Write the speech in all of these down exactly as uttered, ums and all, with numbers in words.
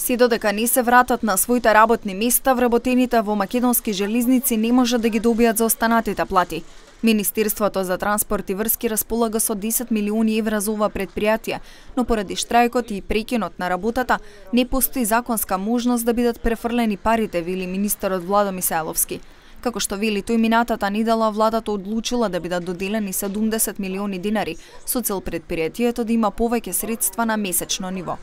Се додека не се вратат на своите работни места, вработените во македонски железници не можат да ги добијат за останатите плати. Министерството за транспорт и врски располага со десет милиони евра за ова предпријатие, но поради штрајкот и прекинот на работата не постои законска можност да бидат префрлени парите, вели министерот Владо Мисајловски. Како што вели тој, минатата недела владата одлучила да бидат доделени седумдесет милиони динари со цел предпријатието да има повеќе средства на месечно ниво.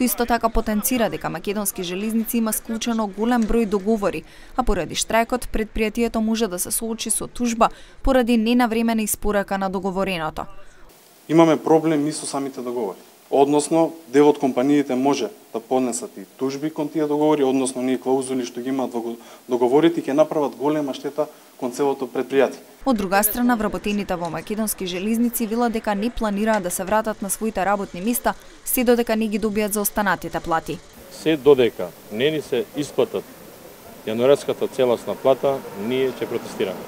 Тој исто така потенцира дека македонски железници има склучено голем број договори, а поради штрајкот предпријатието може да се соочи со тужба поради ненавремена испорака на договореното. Имаме проблем и со самите договори. Односно, дел од компаниите може да поднесат и тужби кон тие договори, односно ние клаузули што ги имаат во договорите ќе направат голема штета кон целото предпријатие. Од друга страна, вработените во македонски железници велат дека не планираат да се вратат на своите работни места, се додека не ги добијат за останатите плати. Се додека не ни се исплатат јануарската целосна плата, ние ќе протестираме.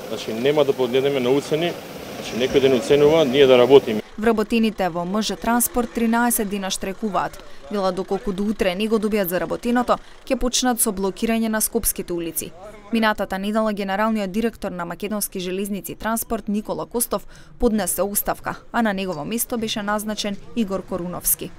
Значи нема да погледнеме на уцени, значи некој ден уценува, ние да работиме. Вработените во МЖ Транспорт тринаесет дена штрекуваат. Велат доколку до утре не го добијат заработеното, ќе почнат со блокирање на скопските улици. Минатата недела генералниот директор на Македонски железници Транспорт Никола Костов поднесе оставка, а на негово место беше назначен Игор Коруновски.